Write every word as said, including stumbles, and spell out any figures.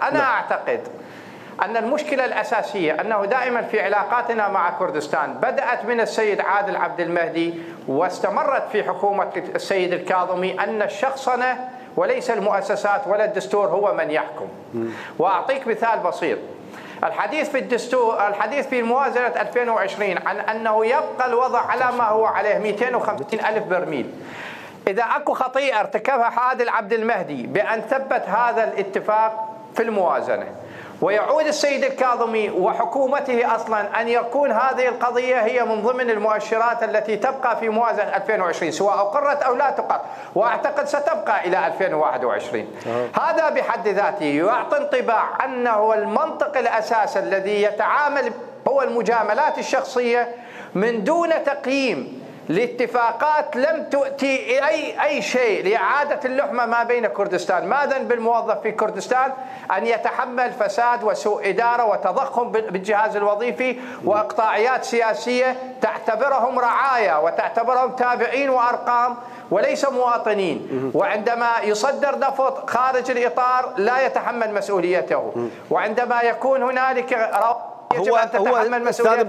أنا لا. أعتقد أن المشكلة الأساسية أنه دائما في علاقاتنا مع كردستان بدأت من السيد عادل عبد المهدي واستمرت في حكومة السيد الكاظمي أن الشخصنة وليس المؤسسات ولا الدستور هو من يحكم. وأعطيك مثال بسيط. الحديث في الدستور الحديث في موازنة ألفين وعشرين عن أنه يبقى الوضع على ما هو عليه مئتين وخمسين ألف برميل. إذا أكو خطيئة ارتكبها عادل عبد المهدي بأن ثبت هذا الاتفاق في الموازنة ويعود السيد الكاظمي وحكومته أصلا أن يكون هذه القضية هي من ضمن المؤشرات التي تبقى في موازنة ألفين وعشرين سواء أقرت أو لا تقر، وأعتقد ستبقى إلى ألفين وواحد وعشرين. أه. هذا بحد ذاته يعطي انطباع أنه المنطق الأساسي الذي يتعامل هو المجاملات الشخصية من دون تقييم لاتفاقات لم تؤتي أي أي شيء لإعادة اللحمة ما بين كردستان. ما ذنب الموظف في كردستان أن يتحمل فساد وسوء إدارة وتضخم بالجهاز الوظيفي وإقطاعيات سياسية تعتبرهم رعايا وتعتبرهم تابعين وأرقام وليس مواطنين، وعندما يصدر نفط خارج الإطار لا يتحمل مسؤوليته، وعندما يكون هنالك يجب أن تتحمل مسؤوليته.